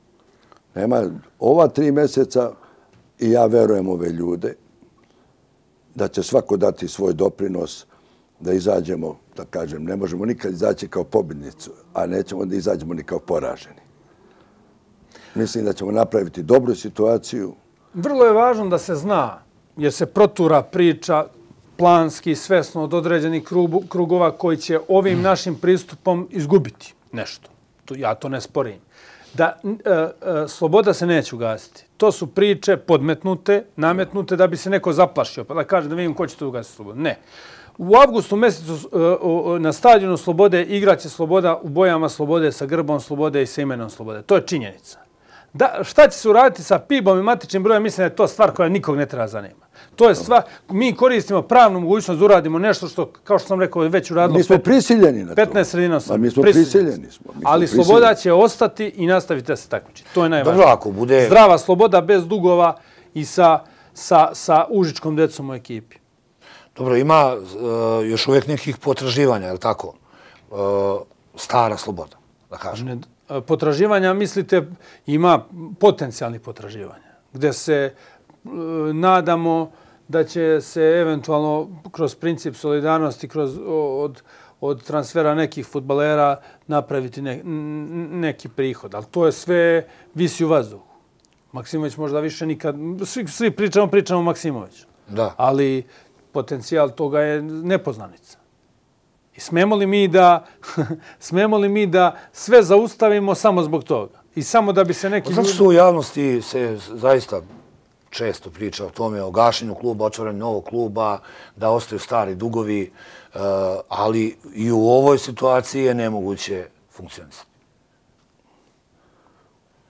Nema, ova tri mjeseca i ja verujem ove ljude da će svako dati svoj doprinos da izađemo, da kažem, ne možemo nikad izaći kao pobjednicu, a nećemo da izađemo ni kao poraženi. Mislim da ćemo napraviti dobru situaciju. Vrlo je važno da se zna, jer se protura priča planski, svesno od određenih krugova koji će ovim našim pristupom izgubiti nešto. Ja to ne sporim. Da e, e, sloboda se neće ugasiti. To su priče podmetnute, nametnute da bi se neko zaplašio, pa da kaže da vidim ko će to ugasiti slobodu. Ne. U avgustu mjesecu e, na stadionu Slobode igraće Sloboda u bojama Slobode sa grbom Slobode i sa imenom Slobode. To je činjenica. Da, šta će se uraditi sa P I B-om i matičnim brojem, mislim da je to stvar koja nikog ne treba zanima. To je stvar, mi koristimo pravnu mogućnost da uradimo nešto što, kao što sam rekao, već uradilo... Mi smo prisiljeni na to. petnaest sredina sam. Mi smo prisiljeni. Smo. Mi Ali smo sloboda prisiljeni. će ostati i nastaviti da se takmiči. To je najvažnije. Dobro, ako bude... Zdrava sloboda bez dugova i sa, sa, sa užičkom decom u ekipi. Dobro, ima uh, još uvijek nekih potraživanja, je li tako? Uh, stara sloboda, da kažem. Ne, potraživanja, mislite, ima potencijalnih potraživanja, gde se uh, nadamo da će se eventualno kroz princip solidarnosti, kroz, od, od transfera nekih fudbalera napraviti ne, neki prihod. Ali to je sve visi u vazduhu. Maksimović možda više nikad... Svi, svi pričamo, pričamo o Maksimoviću. Da. Ali potencijal toga je nepoznanica. I smemo li mi da, smemo li mi da sve zaustavimo samo zbog toga? I samo da bi se neki ljudi... Zato što u javnosti se zaista često priča o tome, o gašenju kluba, otvaranju novog kluba, da ostaju stari dugovi, ali i u ovoj situaciji je nemoguće funkcionisati.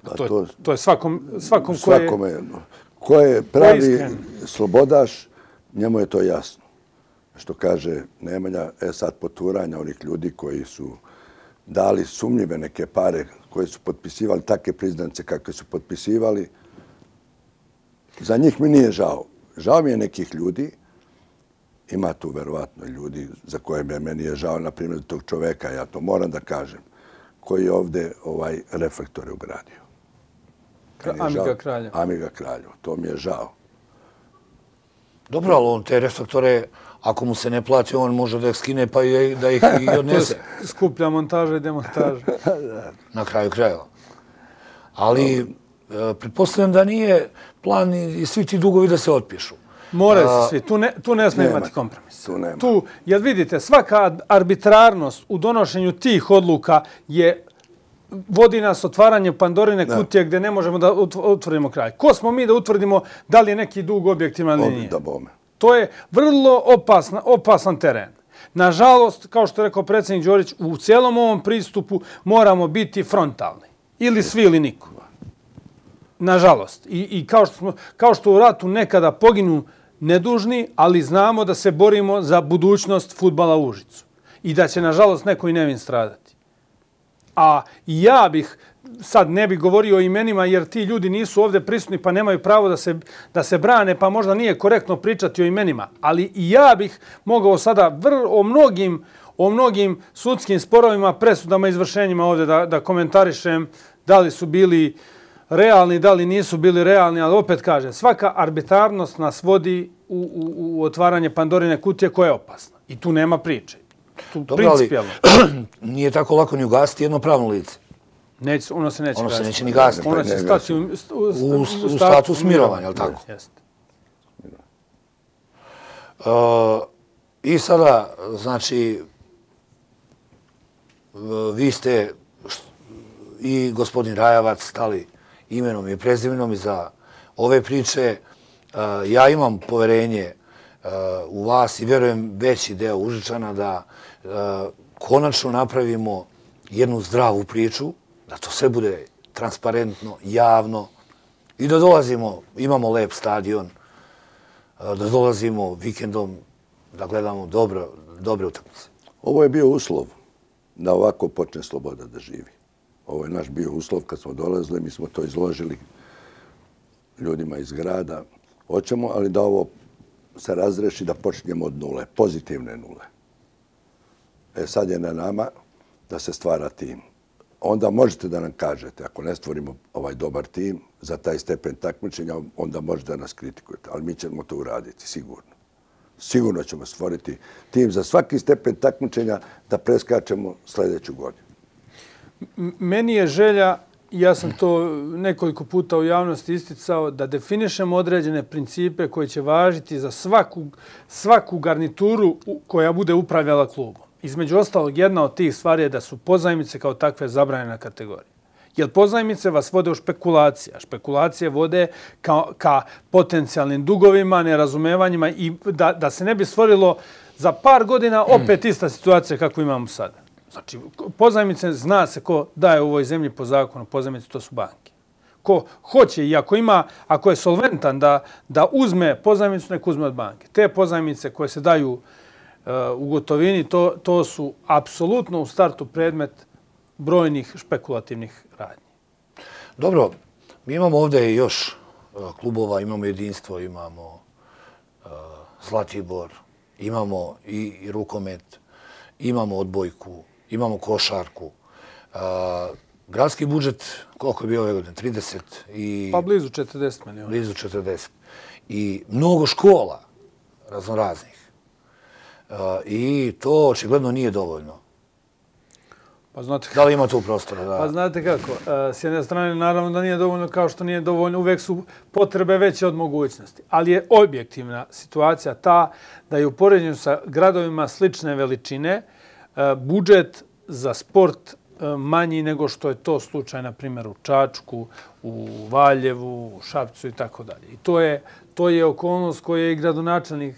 To, to, to je svakom, svakom ko je... Svakome, ko je pravi slobodaš, njemu je to jasno. Što kaže Nemanja, e sad poturanja onih ljudi koji su dali sumnjive neke pare, koji su potpisivali takve priznance kakve su potpisivali, za njih mi nije žao. Žao mi je nekih ljudi, ima tu verovatno ljudi za koje meni je žao, na primjer tog čoveka, ja to moram da kažem, koji je ovde ovaj reflektore ugradio. Amiga Kraljev. Amiga Kraljev, to mi je žao. Dobro, ali on te reflektore, ako mu se ne plati, on može da ih skine pa i da ih i odnese. Skuplja montaža i demontaža. Na kraju krajeva. Ali pretpostavljam da nije plan i svi ti dugovi da se otpišu. Moraju se svi. Tu ne, tu ne smije imati kompromis. Tu nema. Tu, jer vidite, svaka arbitrarnost u donošenju tih odluka je vodi nas otvaranje Pandorine kutije gdje ne možemo da utvrdimo kraj. Ko smo mi da utvrdimo da li je neki dug objektivan ili nije? To je vrlo opasna, opasan teren. Nažalost, kao što je rekao predsjednik Đorić, u cijelom ovom pristupu moramo biti frontalni. Ili svi ili niko. Nažalost. I, i kao, što smo, kao što u ratu nekada poginu nedužni, ali znamo da se borimo za budućnost fudbala u Užicu. I da će, nažalost, neko i nevin stradati. A ja bih, sad ne bih govorio o imenima jer ti ljudi nisu ovdje prisutni pa nemaju pravo da se, da se brane, pa možda nije korektno pričati o imenima. Ali i ja bih mogao sada vr, o, mnogim, o mnogim sudskim sporovima, presudama, izvršenjima ovdje da, da komentarišem da li su bili realni, da li nisu bili realni, ali opet kažem, svaka arbitrarnost nas vodi u, u, u otvaranje Pandorine kutije koja je opasna. I tu nema priče. Tu Dobro, ali nije tako lako ni ugasiti jedno pravno lice. Neće, ono se neće ono gasiti. se neće ni gasiti. Ono će stati u, u, u, u, u status mirovanja, je li tako? Jeste. Uh, I sada, znači, vi ste i gospodin Rajavac stali imenom i prezimenom iza ove priče. Uh, ja imam poverenje uh, u vas i vjerujem veći deo Užičana da uh, konačno napravimo jednu zdravu priču, da to sve bude transparentno, javno i da dolazimo, imamo lep stadion, da dolazimo vikendom, da gledamo dobro, dobre utakmice. Ovo je bio uslov da ovako počne Sloboda da živi. Ovo je naš bio uslov kad smo dolazili, mi smo to izložili ljudima iz grada. Hoćemo, ali da ovo se razreši, da počnemo od nule, pozitivne nule. E sad je na nama da se stvara tim. Onda možete da nam kažete, ako ne stvorimo ovaj dobar tim za taj stepen takmičenja, onda možete da nas kritikujete. Ali mi ćemo to uraditi, sigurno. Sigurno ćemo stvoriti tim za svaki stepen takmičenja da preskačemo sljedeću godinu. Meni je želja, ja sam to nekoliko puta u javnosti isticao, da definišemo određene principe koje će važiti za svaku, svaku garnituru koja bude upravljala klubom. Između ostalog, jedna od tih stvari je da su pozajmice kao takve zabranjena kategorija. Jer pozajmice vas vode u špekulacije, a špekulacije vode ka, ka potencijalnim dugovima, nerazumevanjima i da, da se ne bi stvorilo za par godina opet ista situacija kako imamo sada. Znači, pozajmice zna se ko daje u ovoj zemlji po zakonu, pozajmice to su banke. Ko hoće i ako ima, ako je solventan da, da uzme pozajmicu, nek uzme od banke. Te pozajmice koje se daju u gotovini, to, to su apsolutno u startu predmet brojnih špekulativnih radnji. Dobro, mi imamo ovdje još klubova, imamo Jedinstvo, imamo uh, Zlatibor, imamo i, i rukomet, imamo odbojku, imamo košarku. Uh, gradski budžet, koliko je bio ove godine? trideset i... Pa blizu četrdeset miliona. Blizu četrdeset. I mnogo škola raznoraznih. Uh, I to očigledno nije dovoljno. Pa znate, da li ima tu prostora? Da... Pa znate kako, s jedne strane naravno da nije dovoljno kao što nije dovoljno, uvek su potrebe veće od mogućnosti. Ali je objektivna situacija ta da je u poređenju sa gradovima slične veličine budžet za sport manji nego što je to slučaj, na primjer, u Čačku, u Valjevu, u Šapcu i tako dalje. I to je, to je okolnost koja je i gradonačelnik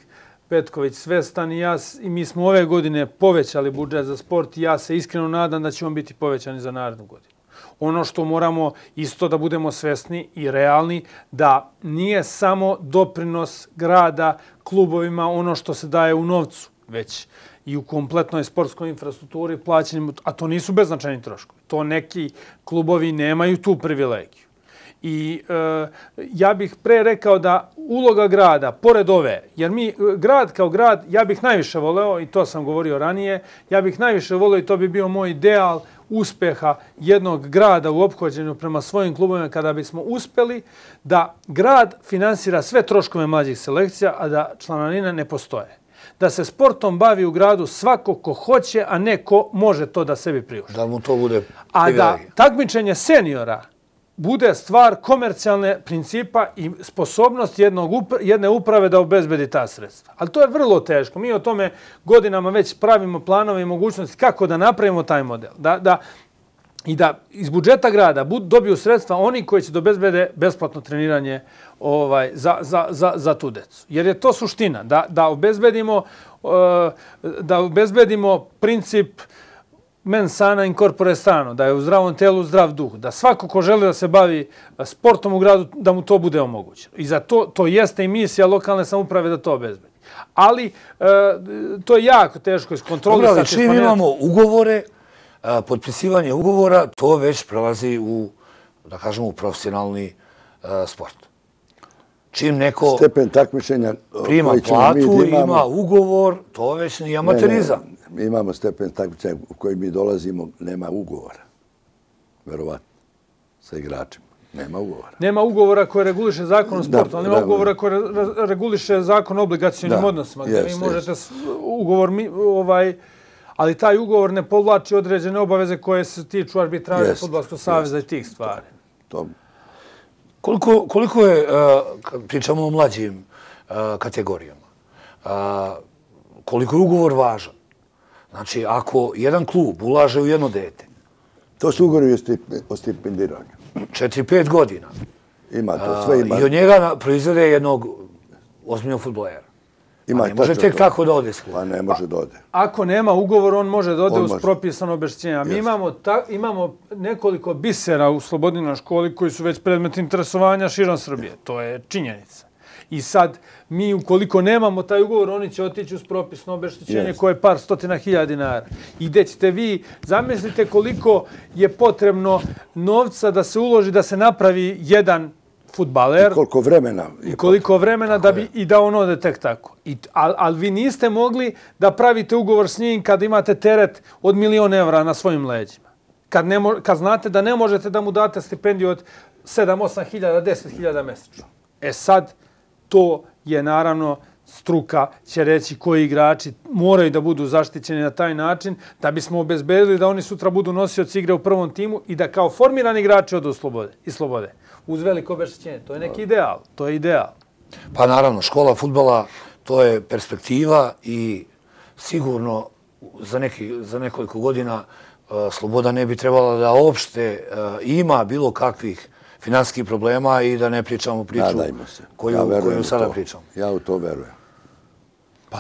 Petković svestan i, ja, i mi smo ove godine povećali budžet za sport i ja se iskreno nadam da će on biti povećan za narednu godinu. Ono što moramo isto da budemo svesni i realni, da nije samo doprinos grada klubovima ono što se daje u novcu, već i u kompletnoj sportskoj infrastrukturi plaćanjem, a to nisu beznačajni troškovi. To neki klubovi nemaju tu privilegiju. I e, ja bih pre rekao da uloga grada, pored ove, jer mi, grad kao grad, ja bih najviše voleo, i to sam govorio ranije, ja bih najviše voleo i to bi bio moj ideal uspeha jednog grada u ophođenju prema svojim klubovima kada bismo uspeli da grad finansira sve troškove mlađih selekcija, a da članarine ne postoje. Da se sportom bavi u gradu svako ko hoće, a ne ko može to da sebi priušti. Da mu to bude a da takmičenje seniora bude stvar komercijalne principa i sposobnost jednog upra- jedne uprave da obezbedi ta sredstva. Ali to je vrlo teško. Mi o tome godinama već pravimo planove i mogućnosti kako da napravimo taj model. Da, da, I da iz budžeta grada bud, dobiju sredstva oni koji će da obezbede besplatno treniranje ovaj, za, za, za, za tu decu. Jer je to suština. Da, da, obezbedimo, uh, da obezbedimo princip mens sana in corpore sano, da je u zdravom telu zdrav duh, da svako ko želi da se bavi sportom u gradu, da mu to bude omogućeno. I za to, to jeste i misija lokalne samouprave da to obezbedi. Ali e, to je jako teško iskontrolisati. Dobro, ali čim imamo ugovore, a, potpisivanje ugovora, to već prelazi u, da kažemo, u profesionalni a, sport. Čim neko stepen takmičenja prima platu, ima ugovor, to već nije amaterizam. Ne, ne. Mi imamo stepen takmičenja u koji mi dolazimo, nema ugovora. Verovatno. Sa igračima. Nema ugovora. Nema ugovora koje reguliše zakon o sportu, ali nema ugovora koje reguliše zakon o obligacionim odnosima. Gdje vi možete ugovor, ovaj, ali taj ugovor ne povlači određene obaveze koje se tiču arbitraže Fudbalskog saveza i tih stvari. To. Koliko, koliko je, kad pričamo o mlađim kategorijama, koliko je ugovor važan? Znači, ako jedan klub ulaže u jedno dete... To su ugovori o stipendiranju. Četiri, pet godina. Ima to, sve ima. I od njega proizvede jednog ozbiljnog fudbalera. Ima, ne može tek to. Tako da ode s klubom. Pa ne može da ode. Ako nema ugovor, on može da ode uz propisano obeštećenje. Mi imamo, ta, imamo nekoliko bisera u Slobodinoj školi koji su već predmet interesovanja širom Srbije. To je činjenica. I sad, mi ukoliko nemamo taj ugovor, oni će otići uz propisno obeštećenje yes. koje je par stotina hiljada dinara. I gdje ćete vi, zamislite koliko je potrebno novca da se uloži, da se napravi jedan fudbaler. I koliko vremena. I koliko vremena da bi, i da on ode tek tako. I, ali, ali vi niste mogli da pravite ugovor s njim kad imate teret od milion evra na svojim leđima. Kad, ne, kad znate da ne možete da mu date stipendiju od sedam osam hiljada, deset hiljada mesečno. E sad, to je naravno struka će reći koji igrači moraju da budu zaštićeni na taj način da bismo obezbedili da oni sutra budu nosioci igre u prvom timu i da kao formirani igrači odu slobode, i slobode. Uz veliko obeštećenje. To je neki ideal. To je ideal. Pa naravno, škola fudbala to je perspektiva i sigurno za, neki, za nekoliko godina uh, Sloboda ne bi trebala da uopšte uh, ima bilo kakvih finansijskih problema i da ne pričamo priču koju, ja koju sada to. pričamo. Ja u to verujem. Pa,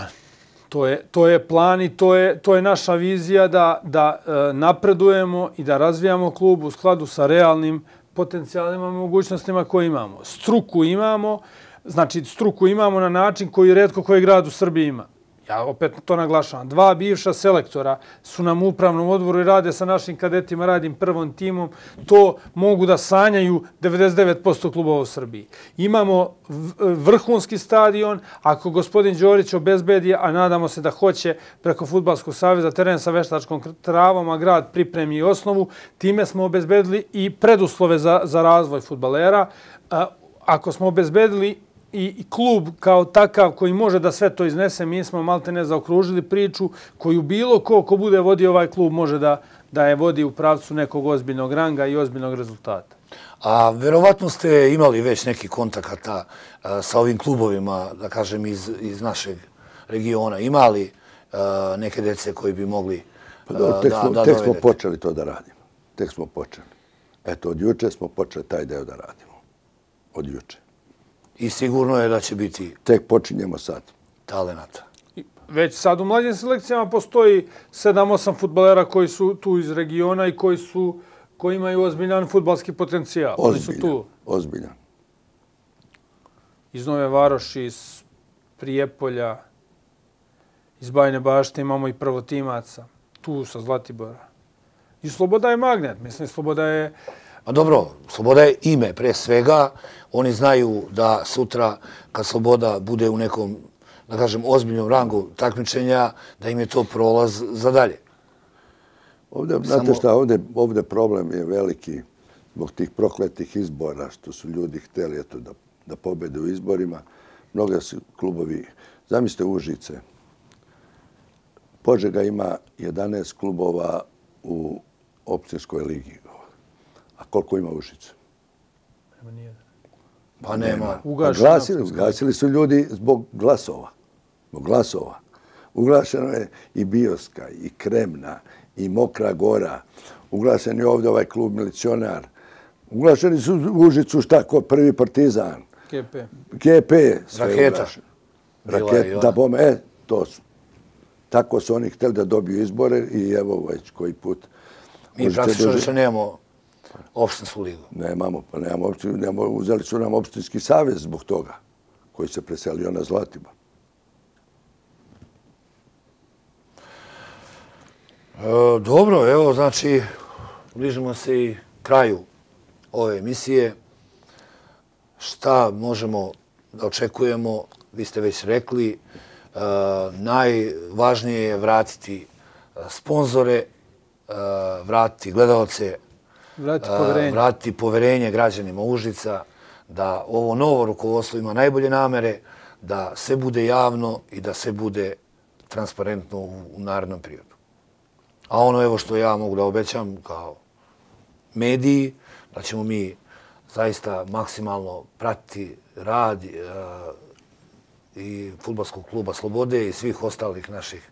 to je, to je plan i to je, to je naša vizija da, da e, napredujemo i da razvijamo klub u skladu sa realnim potencijalima i mogućnostima koje imamo. Struku imamo, znači struku imamo na način koji retko koji grad u Srbiji ima. Ja opet to naglašavam. Dva bivša selektora su nam u upravnom odboru i rade sa našim kadetima, radim prvom timom. To mogu da sanjaju devedeset devet posto klubova u Srbiji. Imamo vrhunski stadion. Ako gospodin Đorić obezbedi, a nadamo se da hoće preko Fudbalskog saveza teren sa veštačkom travom, a grad pripremi osnovu, time smo obezbedili i preduslove za, za razvoj fudbalera. Ako smo obezbedili i klub kao takav koji može da sve to iznese, mi smo malte ne zaokružili priču koju bilo ko ko bude vodio ovaj klub može da, da je vodi u pravcu nekog ozbiljnog ranga i ozbiljnog rezultata. A verovatno ste imali već neki kontakata a, sa ovim klubovima, da kažem, iz, iz našeg regiona. Imali a, neke dece koji bi mogli Tek smo počeli to da radimo. Tek smo počeli. Eto, od juče smo počeli taj deo da radimo. Od juče. I sigurno je da će biti... Tek počinjemo sad. Talenata. Već sad u mlađim selekcijama postoji sedam osam fudbalera koji su tu iz regiona i koji su koji imaju ozbiljan fudbalski potencijal. Ozbiljan, ozbiljan. Iz Nove Varoši, iz Prijepolja, iz Bajine Bašte imamo i prvotimaca. Tu sa Zlatibora. I Sloboda je magnet. Mislim, Sloboda je... A dobro, Sloboda je ime pre svega. Oni znaju da sutra, kad Sloboda bude u nekom, da kažem, ozbiljnom rangu takmičenja, da im je to prolaz za dalje. Ovdje, znate šta, ovdje, ovdje problem je veliki zbog tih prokletih izbora, što su ljudi htjeli eto, da, da pobede u izborima. Mnoga su klubovi, zamislite Užice, Požega ima jedanaest klubova u općinskoj ligi. A koliko ima Užice? Nema nijedan. Pa nema. Ugasili, ugasili su ljudi zbog glasova. Zbog glasova. Ugašeno je i Bioska, i Kremna, i Mokra Gora. Ugašen je ovdje ovaj klub Milicionar. Ugašeni su u Užicu šta ko prvi Partizan. G P. G P. Raketa. Raketa, da bome, e, to su. Tako su oni htjeli da dobiju izbore i evo već koji put. Mi praktično više nemamo opštinsku ligu. Nemamo, pa nemamo opštinu, nemamo, uzeli su nam opštinski savez zbog toga, koji se preselio na Zlatibor. E, dobro, evo, znači, bližimo se i kraju ove emisije. Šta možemo da očekujemo, vi ste već rekli, e, najvažnije je vratiti sponzore, e, vratiti gledalce, Vratiti poverenje. vratiti poverenje građanima Užica, da ovo novo rukovodstvo ima najbolje namere, da sve bude javno i da sve bude transparentno u, u narednom periodu. A ono evo što ja mogu da obećam kao mediji, da ćemo mi zaista maksimalno pratiti rad e, i fudbalskog kluba Slobode i svih ostalih naših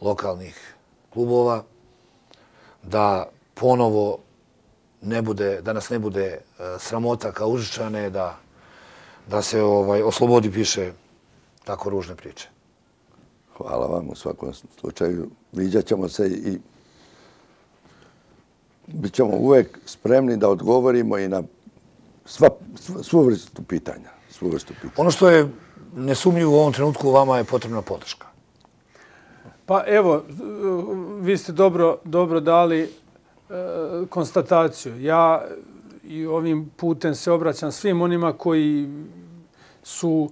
lokalnih klubova, da ponovo ne bude, da nas ne bude sramota kao Užičane, da, da se ovaj, o Slobodi piše tako ružne priče. Hvala vam u svakom slučaju. Viđat ćemo se i bit ćemo uvek spremni da odgovorimo i na sva, svu vrstu pitanja. Svu vrstu pitanja. Ono što je nesumnjivo u ovom trenutku, vama je potrebna podrška. Pa evo, vi ste dobro, dobro dali konstataciju. Ja i ovim putem se obraćam svim onima koji su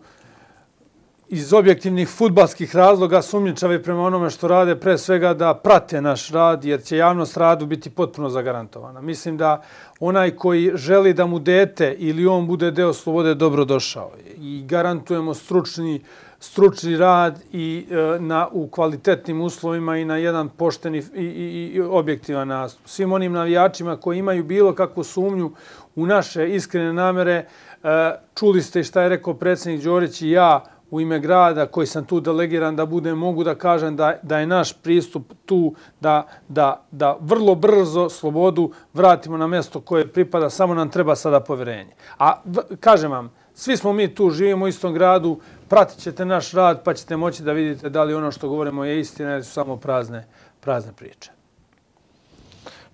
iz objektivnih fudbalskih razloga sumnjičavi prema onome što rade, pre svega da prate naš rad, jer će javnost radu biti potpuno zagarantovana. Mislim da onaj koji želi da mu dete ili on bude deo Slobode dobro došao. I garantujemo stručni stručni rad i e, na, u kvalitetnim uslovima i na jedan pošten i, i, i objektivan nastup. Svim onim navijačima koji imaju bilo kakvu sumnju u naše iskrene namere, e, čuli ste šta je rekao predsjednik Đorić i ja u ime grada koji sam tu delegiran da budem, mogu da kažem da, da je naš pristup tu da, da, da vrlo brzo Slobodu vratimo na mjesto koje pripada, samo nam treba sada poverenje. A v, kažem vam, svi smo mi tu, živimo u istom gradu, pratit ćete naš rad pa ćete moći da vidite da li ono što govorimo je istina ili su samo prazne, prazne priče.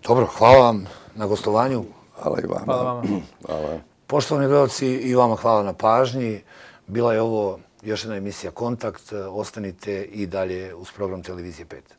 Dobro, hvala vam na gostovanju. Hvala i vama. Hvala vama. Hvala. Poštovani gledalci, i vama hvala na pažnji. Bila je ovo još jedna emisija Kontakt. Ostanite i dalje uz program Televizije pet.